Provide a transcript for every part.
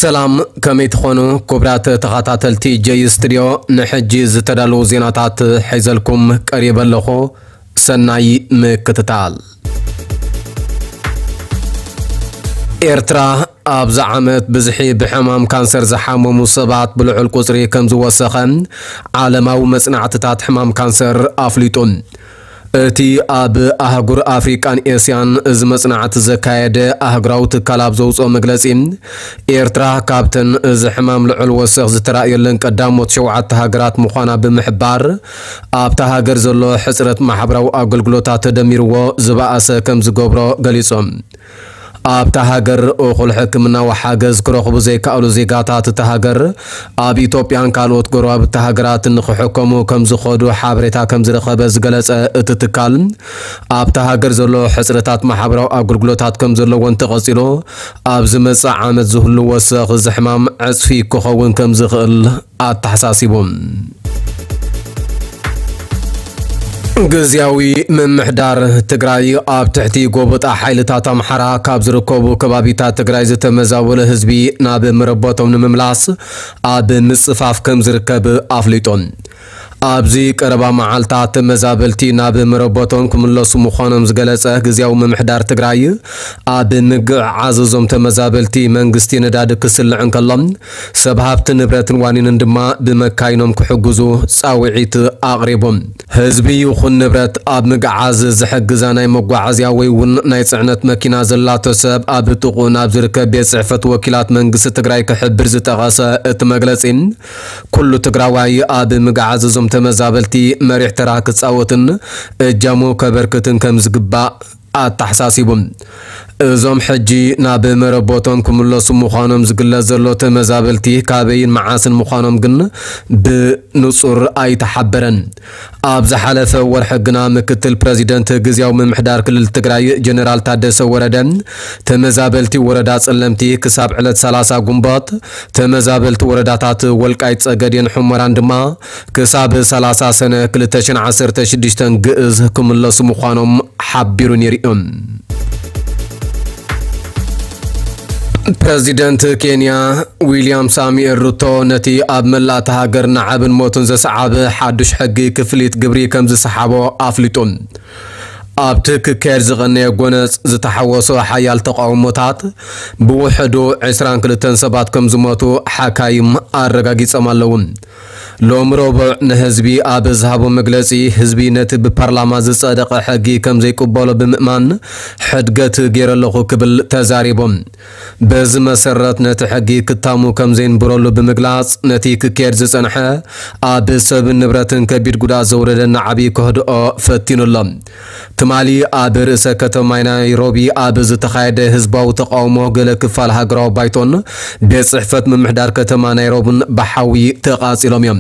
ሰላም፣ ከመይ ትኾኑ ክቡራት ተኸታተልቲ ጀይ ስቱድዮ? ንሕጂ ዝተዳለዉ ዜናታት ሒዘልኩም ቀሪበ ኣለኹ። ሰናይ ምክትታል። ኤርትራ ኣብዚ ዓመት ብዝሒ ብሕማም ካንሰር ዝሓመሙ ሰባት ብልዑል ቁጽሪ ከም ዝወሰኸ ዓለማዊ መጽናዕትታት ሕማም ካንሰር ኣፍሊጡ። እቲ ኣብ ኣህጉር ኣፍሪቃን ኤስያን እዚ መጽናዕቲ ዘካየደ ኣህጉራዊ ትካል ኣብ ዘውጽኦ መግለጺ፣ ኤርትራ ካብተን እዚ ሕማም ልዑል ወሰኽ ዝተራእየለን ቀዳሞት ሸውዓተ ሃገራት ምዃና ብምሕባር፣ ኣብታ ሃገር ዘሎ ሕጽረት ማሕበራዊ ኣገልግሎታት ተደሚርዎ ዝበኣሰ ከም ዝገብሮ ገሊጹ። ኣብታ ሃገር እኹል ሕክምናዊ ሓገዝ ክረኽቡ ዘይከኣሉ ዜጋታት እታ ሃገር ኣብ ኢትዮጵያን ካልኦት ጎረባብቲ ሃገራትን ንኽሕከሙ ከም ዝኸዱ ሓበሬታ ከም ዝረኸበ ዝገለጸ እቲ ትካል፣ ኣብታ ሃገር ዘሎ ሕጽረታት ማሕበራዊ ኣገልግሎታት ከም ዘለዎ እንተቐጺሉ፣ ኣብ ዝመጽእ ዓመት ዝህሉ ወሰኽ እዚ ሕማም ዕጽፊ ክኸውን ከም ዝኽእል ኣተሓሳሲቡ። ግዝያዊ ምምሕዳር ትግራይ ኣብ ትሕቲ ጎበጣ ሓይልታት ኣምሓራ ካብ ዝርከቡ ከባቢታት ትግራይ ዝተመዛበለ ህዝቢ ናብ መረበቶም ንምምላስ ኣብ ምጽፋፍ ከም ዝርከብ ኣፍሊጡ። ኣብዚ ቀረባ መዓልታት ተመዛበልቲ ናብ መረበቶም ክምለሱ ምዃኖም ዝገለጸ ግዝያዊ ምምሕዳር ትግራይ፣ ኣብ ምግዕዓዝ እዞም ተመዛበልቲ መንግስቲ ነዳዲ ክስልዕ እንከሎ፣ ሰብ ሃብቲ ንብረትን ዋኒንን ድማ ብመካይኖም ክሕግዙ ጻውዒት ኣቕሪቡ። ህዝቢ ይኹን ንብረት ኣብ ምግዓዝ ዝሕግዛ ናይ መጓዓዝያ ወይ እውን ናይ ጽዕነት መኪና ዘላቶ ሰብ ኣብ ጥቕኡ ናብ ዝርከብ ቤት ጽሕፈት ወኪላት መንግስቲ ትግራይ ክሕብር ዝጠቐሰ እቲ መግለጺ፣ ኩሉ ትግራዋይ ኣብ ምግዓዝ እዞም ተመዛበልቲ መሪሕ ተራ ክጻወትን እጃሙ ከበርክትን ከም ዝግባእ ኣተሓሳሲቡ። እዞም ሕጂ ናብ መረቦቶም ክምለሱ ምዃኖም ዝግለጽ ዘሎ ተመዛበልቲ ካበይን መዓስን ምዃኖም ግን ብንጹር ኣይተሓበረን። ኣብ ዝሓለፈ ወርሒ ግና ምክትል ፕረዚደንት ግዝያዊ ምምሕዳር ክልል ትግራይ ጀነራል ታደሰ ወረደ፣ ተመዛበልቲ ወረዳ ጸለምቲ ክሳብ ዕለት ሰላሳ ጉንቦት፣ ተመዛበልቲ ወረዳታት ወልቃይት ጸገዴን ሑመራን ድማ ክሳብ ሰላሳ ሰነ ክልተ ሽሕን ዓሰርተ ሽዱሽተን ግእዝ ክምለሱ ምዃኖም ሓቢሩ ነይሩ እዩ። ፕረዚደንት ኬንያ ዊልያም ሳሙኤል ሩቶ ነቲ ኣብ መላእታ ሃገር ንዓብን ሞትን ዘሰዓበ ሓዱሽ ሕጊ ክፍሊት ግብሪ ከም ዝሰሓቦ ኣፍሊጡ። ኣብቲ ክካየድ ዝቐነየ ጎነጽ ዝተሓወሶ ሓያል ተቃውሞታት ብውሕዱ ዕስራን ክልተን ሰባት ከም ዝሞቱ ሓካይም ኣረጋጊጾም ኣለዉ። ሎም ረቡዕ ንህዝቢ ኣብ ዝሃቦ መግለጺ፣ ህዝቢ ነቲ ብፓርላማ ዝጸደቐ ሕጊ ከም ዘይቅበሎ ብምእማን ሕድገት ገይረ ኣለኹ ክብል ተዛሪቡ። በዚ መሰረት ነቲ ሕጊ ክታሙ ከም ዘይንብረሉ ብምግላጽ፣ ነቲ ክካየድ ዝጸንሐ ኣብ ሰብን ንብረትን ከቢድ ጉድኣት ዘውረደ ናዕቢ ከህድኦ ፈቲኑ ኣሎ። ትማሊ ኣብ ርእሰ ከተማ ናይሮቢ ኣብ ዝተኻየደ ህዝባዊ ተቃውሞ፣ ገለ ክፋል ሃገራዊ ባይቶን ቤት ጽሕፈት ምምሕዳር ከተማ ናይሮብን ብሓዊ ተቓጺሎም እዮም።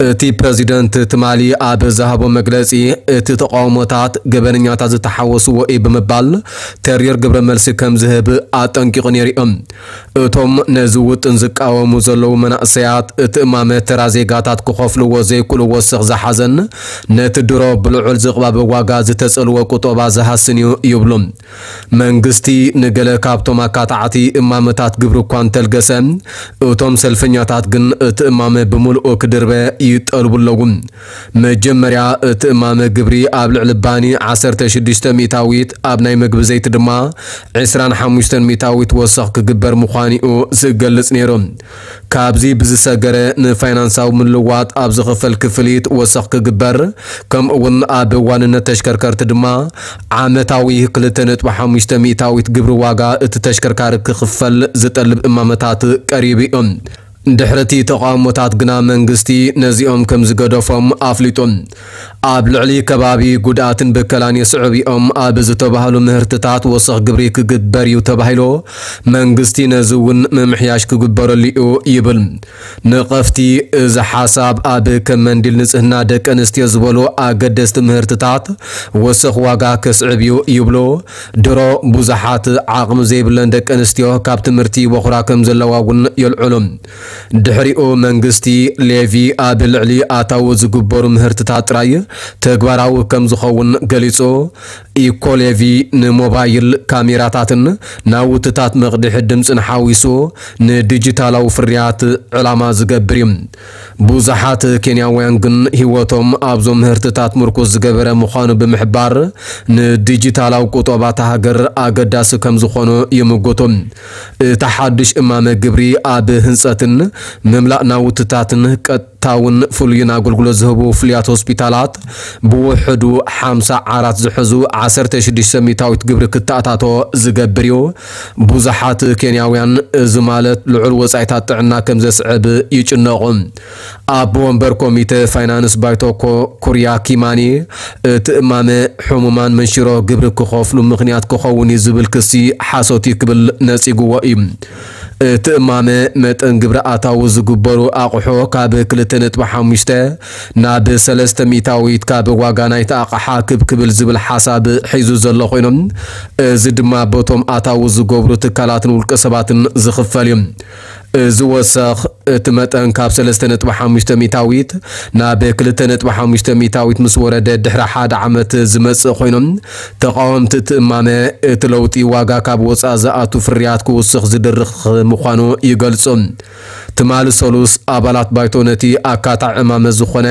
እቲ ፕረዚደንት ትማሊ ኣብ ዝሃቦ መግለጺ፣ እቲ ተቃውሞታት ገበነኛታት ዝተሓወስዎ እዩ ብምባል ተሪር ግብረ መልሲ ከም ዝህብ ኣጠንቂቑ ነይሩ እዩ። እቶም ነዚ ውጥን ዝቃወሙ ዘለዉ መናእሰያት፣ እቲ እማመ ተራ ዜጋታት ክኸፍልዎ ዘይክእሉ ወሰኽ ዝሓዘን ነቲ ድሮ ብልዑል ዝቕባበ ዋጋ ዝተጸልወ ቁጠባ ዝሃስን እዩ ይብሉ። መንግስቲ ንገለ ካብቶም ኣካታዕቲ እማመታት ግብሪ እኳ እንተልገሰ፣ እቶም ሰልፈኛታት ግን እቲ እማመ ብምልኡ ክድርበ ይጠልቡ ኣለዉ። መጀመርያ እቲ እማመ ግብሪ ኣብ ልዕሊ ባኒ ዓሰርተ ሽዱሽተ ሚእታዊት፣ ኣብ ናይ መግቢ ዘይቲ ድማ ዕስራን ሓሙሽተን ሚእታዊት ወሰኽ ክግበር ምዃኑ'ዩ ዝገልጽ ነይሩ። ካብዚ ብዝሰገረ፣ ንፋይናንሳዊ ምልዋጥ ኣብ ዝኽፈል ክፍሊት ወሰኽ ክግበር፣ ከምኡ እውን ኣብ ዋንነት ተሽከርከርቲ ድማ ዓመታዊ ክልተ ነጥቢ ሓሙሽተ ሚእታዊት ግብሪ ዋጋ እቲ ተሽከርካሪ ክኽፈል ዝጠልብ እማመታት ቀሪቡ እዩ። ድሕሪ እቲ ተቓውሞታት ግና መንግስቲ ነዚኦም ከም ዝገደፎም ኣፍሊጡ። ኣብ ልዕሊ ከባቢ ጉድኣትን ብከላን የስዕቡ እዮም ኣብ ዝተባህሉ ምህርትታት ወሰኽ ግብሪ ክግበር እዩ ተባሂሉ፣ መንግስቲ ነዚ እውን ምምሕያሽ ክግበረሉ እዩ ይብል። ነቐፍቲ፣ እዚ ሓሳብ ኣብ ከም መንዲል ንጽህና ደቂ ኣንስትዮ ዝበሉ ኣገደስቲ ምህርትታት ወሰኽ ዋጋ ከስዕብ እዩ ይብሉ። ድሮ ብዙሓት ዓቕሚ ዘይብለን ደቂ ኣንስትዮ ካብ ትምህርቲ ይቦኽራ ከም ዘለዋ እውን የልዕሉ። ድሕሪኡ መንግስቲ ሌቪ ኣብ ልዕሊ ኣታዊ ዝግበሩ ምህርትታት ጥራይ ተግባራዊ ከም ዝኸውን ገሊጹ። ኢኮ ሌቪ ንሞባይል ካሜራታትን ናውትታት መቕድሒ ድምፅን ሓዊሱ ንዲጂታላዊ ፍርያት ዕላማ ዝገብር እዩ። ብዙሓት ኬንያውያን ግን ህይወቶም ኣብዞም ምህርትታት ምርኩስ ዝገበረ ምዃኑ ብምሕባር ንዲጂታላዊ ቁጠባ እታ ሃገር ኣገዳሲ ከም ዝኾኑ ይምጉቱ። እቲ ሓድሽ እማመ ግብሪ ኣብ ህንፀትን ምምላእ ናውትታትን ቀጥታውን ፍሉይን ኣገልግሎት ዝህቡ ፍሉያት ሆስፒታላት ብውሕዱ ሓምሳ ዓራት ዝሕዙ ዓሰርተ ሽዱሽተ ሚታዊት ግብሪ ክተኣታቶ ዝገብር እዩ። ብዙሓት ኬንያውያን እዚ ማለት ልዑል ወጻኢታት ጥዕና ከም ዘስዕብ ይጭነቑ። ኣቦ ወንበር ኮሚተ ፋይናንስ ባይቶ ኮ- ኩርያ ኪማኒ እቲ እማመ ሕሙማን መንሽሮ ግብሪ ክኸፍሉ ምኽንያት ክኸውን እዩ ዝብል ክሲ ሓሶት እዩ ክብል ነጺግዎ እዩ። እቲ እማመ መጠን ግብሪ ኣታዊ ዝግበሩ ኣቕሑ ካብ ክልተ ነጥቢ ሓሙሽተ ናብ ሰለስተ ሚእታዊት ካብ ዋጋ ናይቲ ኣቕሓ ክብ ክብል ዝብል ሓሳብ ሒዙ ዘሎ ኮይኑ፣ እዚ ድማ በቶም ኣታዊ ዝገብሩ ትካላትን ውልቀ ሰባትን ዝኽፈል እዩ። እዚ ወሰኽ እቲ መጠን ካብ ሰለስተ ነጥቢ ሓሙሽተ ሚእታዊት ናብ ክልተ ነጥቢ ሓሙሽተ ሚእታዊት ምስ ወረደ ድሕሪ ሓደ ዓመት ዝመጽእ ኮይኑ፣ ተቓወምቲ እቲ እማመ እቲ ለውጢ ዋጋ ካብ ወጻኢ ዝኣቱ ፍርያት ክውስኽ ዝድርኽ ምዃኑ ይገልጹ። ትማሊ ሰሉስ ኣባላት ባይቶ ነቲ ኣካታዒ እማመ ዝኾነ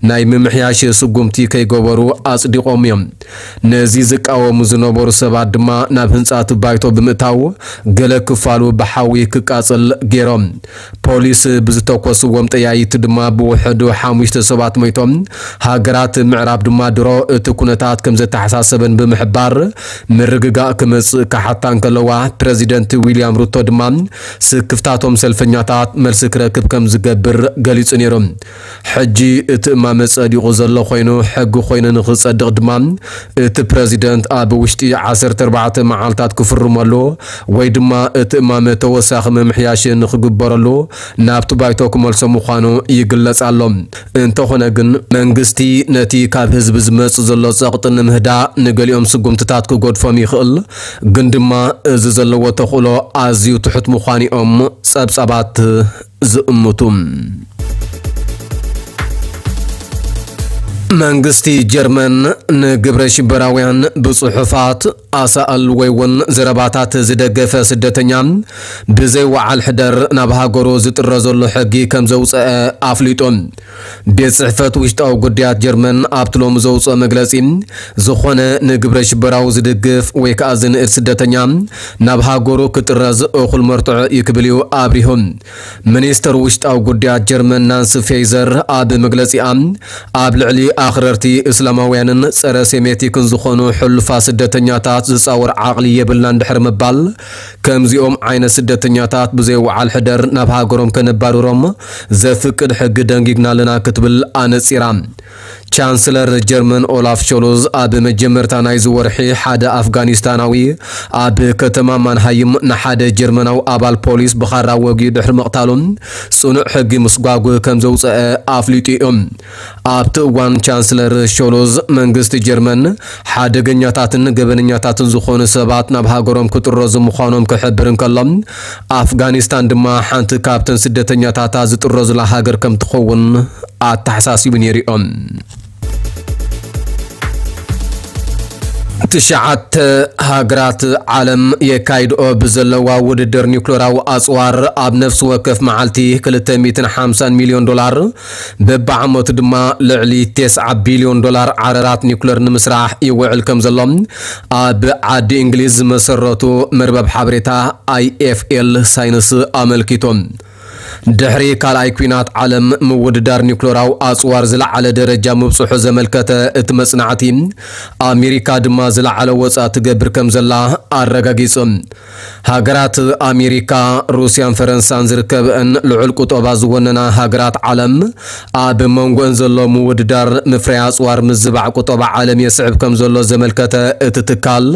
ናይ ምምሕያሽ ስጉምቲ ከይገበሩ ኣጽዲቖም እዮም። ነዚ ዝቃወሙ ዝነበሩ ሰባት ድማ ናብ ህንጻ እቲ ባይቶ ብምእታው ገለ ክፋሉ ብሓዊ ክቃጸል ገይሮም። ፖሊስ ብዝተኮስዎም ጠያይቲ ድማ ብውሕዱ ሓሙሽተ ሰባት ሞይቶም። ሃገራት ምዕራብ ድማ ድሮ እቲ ኩነታት ከም ዘተሓሳሰበን ብምሕባር ምርግጋእ ክመጽእ ክሓታ እንከለዋ፣ ፕረዚደንት ዊልያም ሩቶ ድማ ስክፍታቶም ሰልፈኛታት መልሲ ክረክብ ከም ዝገብር ገሊጹ ነይሩ። ሕጂ እቲ እማመ ጸዲቑ ዘሎ ኮይኑ፣ ሕጊ ኮይኑ ንኽጸድቕ ድማ እቲ ፕረዚደንት ኣብ ውሽጢ ዓሰርተ ኣርባዕተ መዓልታት ክፍርመሉ ወይ ድማ እቲ እማመ ተወሳኺ ምምሕያሽ ንኽግበረሉ ናብቲ ባይቶ ክመልሶ ምዃኑ ይግለጽ ኣሎ። እንተኾነ ግን መንግስቲ ነቲ ካብ ህዝቢ ዝመጽእ ዘሎ ጸቕጢ ንምህዳእ ንገሊኦም ስጉምትታት ክገድፎም ይኽእል፣ ግን ድማ እዚ ዘለዎ ተኽእሎ ኣዝዩ ትሑት ምዃኑ እዮም ጸብጻባት ዝእምቱ። መንግስቲ ጀርመን ንግብረ ሽበራውያን ብጽሑፋት ኣሳእል ወይ እውን ዘረባታት ዝደገፈ ስደተኛ ብዘይ ወዓል ሕደር ናብ ሃገሩ ዝጥረዘሉ ሕጊ ከም ዘውፀአ ኣፍሊጡ። ቤት ጽሕፈት ውሽጣዊ ጉዳያት ጀርመን ኣብቲ ሎሚ ዘውፅኦ መግለጺ፣ ዝኾነ ንግብረ ሽበራዊ ዝድግፍ ወይ ከዓ ዝንእድ ስደተኛ ናብ ሃገሩ ክጥረዝ እኹል መርትዖ እዩ ክብል እዩ ኣብሪሁ። ሚኒስተር ውሽጣዊ ጉዳያት ጀርመን ናንሲ ፌይዘር ኣብ መግለጺኣ፣ ኣብ ልዕሊ ኣኽረርቲ እስላማውያንን ጸረ ሴሜቲክን ዝኾኑ ሕሉፋት ስደተኛታት ዝጻወር ዓቕሊ የብልናን ድሕሪ ምባል፣ ከምዚኦም ዓይነት ስደተኛታት ብዘይ ወዓል ሕደር ናብ ሃገሮም ከነባርሮም ዘፍቅድ ሕጊ ደንጊግና ኣለና ክትብል ኣነጺራ። ቻንስለር ጀርመን ኦላፍ ሾልዝ ኣብ መጀመርታ ናይዚ ወርሒ ሓደ ኣፍጋኒስታናዊ ኣብ ከተማ ማንሃይም ንሓደ ጀርመናዊ ኣባል ፖሊስ ብኻራ ወጊኡ ድሕሪ ምቕታሉ ጽኑዕ ሕጊ ምስጓጉ ከም ዘውፀአ ኣፍሊጡ እዩ። ኣብቲ እዋን ቻንስለር ሾልዝ መንግስቲ ጀርመን ሓደገኛታትን ገበነኛታትን ዝኾኑ ሰባት ናብ ሃገሮም ክጥረዙ ምዃኖም ክሕብር እንከሎ፣ ኣፍጋኒስታን ድማ ሓንቲ ካብተን ስደተኛታታ ዝጥረዙላ ሃገር ከም ትኸውን ኣተሓሳሲቡ ነይሩ እዮም። ትሽዓተ ሃገራት ዓለም የካይድኦ ብዘለዋ ውድድር ኒውክለራዊ ኣጽዋር ኣብ ነፍሲ ወከፍ መዓልቲ ክልተ ሚእትን ሓምሳን ሚልዮን ዶላር፣ በብዓመቱ ድማ ልዕሊ ተስዓ ቢልዮን ዶላር ዓረራት ኒውክለር ንምስራሕ ይውዕል ከም ዘሎ ኣብ ዓዲ እንግሊዝ ዝመሰረቱ መርበብ ሓበሬታ ኣይኤፍኤል ሳይንስ ኣመልኪቶም። ድሕሪ ካልኣይ ኲናት ዓለም ምውድዳር ኒውክለራዊ ኣጽዋር ዝለዓለ ደረጃ ምብጽሑ ዘመልከተ እቲ መጽናዕቲ፣ ኣሜሪካ ድማ ዝለዓለ ወጻ ትገብር ከም ዘላ ኣረጋጊጹ። ሃገራት ኣሜሪካ፣ ሩስያን ፈረንሳን ዝርከበአን ልዑል ቁጠባ ዝወነና ሃገራት ዓለም፣ ኣብ መንጎን ዘሎ ምውድዳር ምፍራይ ኣጽዋር ምዝባዕ ቁጠባ ዓለም የስዕብ ከም ዘሎ ዘመልከተ እቲ ትካል፣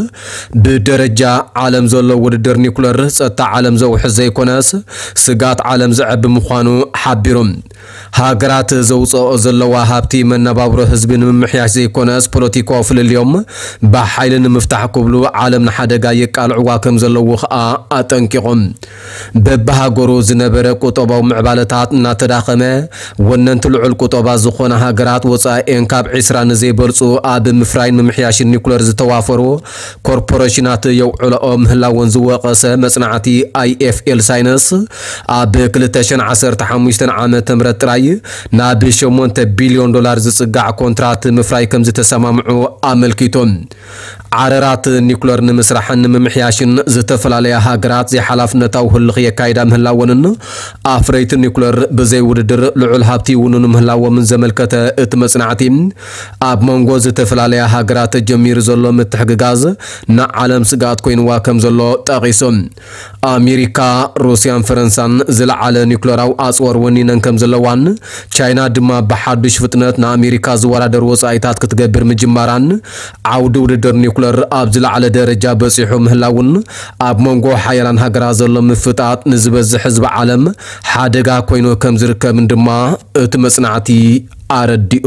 ብደረጃ ዓለም ዘሎ ውድድር ኒኩለር ጸጥታ ዓለም ዘውሕስ ዘይኮነስ፣ ስግኣት ዓለም ዘዕቢ ምዃኑ ሓቢሩ። ሃገራት ዘውፅኦ ዘለዋ ሃብቲ መነባብሮ ህዝቢ ንምምሕያሽ ዘይኮነስ፣ ፖለቲካዊ ፍልልዮም ብሓይሊ ንምፍታሕ ክብሉ ዓለም ንሓደጋ የቃልዕዋ ከም ዘለዉ ኸኣ ኣጠንቂቖም። በብሃገሩ ዝነበረ ቁጠባዊ ምዕባለታት እናተዳኸመ፣ ወነንቲ ልዑል ቁጠባ ዝኾና ሃገራት ወፃኢኤን ካብ ዒስራ ንዘይበልፁ ኣብ ምፍራይን ምምሕያሽን ኒኩለር ዝተዋፈሩ ኮርፖሬሽናት የውዕለኦ ምህላወን ዝወቐሰ መጽናዕቲ ኣይ ኤፍ ኤል ሳይንስ፣ ኣብ ክልተ ሽሕን ዓሰርተ ሓሙሽተን ዓመተ ምህረት ጥራይ ናብ ሸሞንተ ቢልዮን ዶላር ዝጽጋዕ ኮንትራት ምፍራይ ከም ዝተሰማምዑ ኣመልኪቱ። ዓረራት ኒኩለር ንምስራሕን ንምምሕያሽን ዝተፈላለያ ሃገራት ዘይሓላፍነታዊ ህልኽ የካይዳ ምህላወንን፣ ኣፍረይቲ ኒኩለር ብዘይ ውድድር ልዑል ሃብቲ ይውንኑ ምህላዎምን ዘመልከተ እቲ መጽናዕቲ፣ ኣብ መንጎ ዝተፈላለያ ሃገራት ተጀሚሩ ዘሎ ምትሕግጋዝ ንዓለም ስግኣት ኮይንዋ ከም ዘሎ ጠቒሱ። ኣሜሪካ፣ ሩስያን ፈረንሳን ዝለዓለ ኒኩለራዊ ኣጽዋር ወኒነን ከም ዘለዋን፣ ቻይና ድማ ብሓዱሽ ፍጥነት ንኣሜሪካ ዝወዳደር ወጻኢታት ክትገብር ምጅማራን፣ ዓውዲ ውድድር ኒኩለር ኣብ ዝለዓለ ደረጃ በጺሑ ምህላውን ኣብ መንጎ ሓያላን ሃገራት ዘሎ ምፍጣጥ ንዝበዝሕ ህዝቢ ዓለም ሓደጋ ኮይኑ ከም ዝርከብን ድማ እቲ መጽናዕቲ ኣረዲኡ።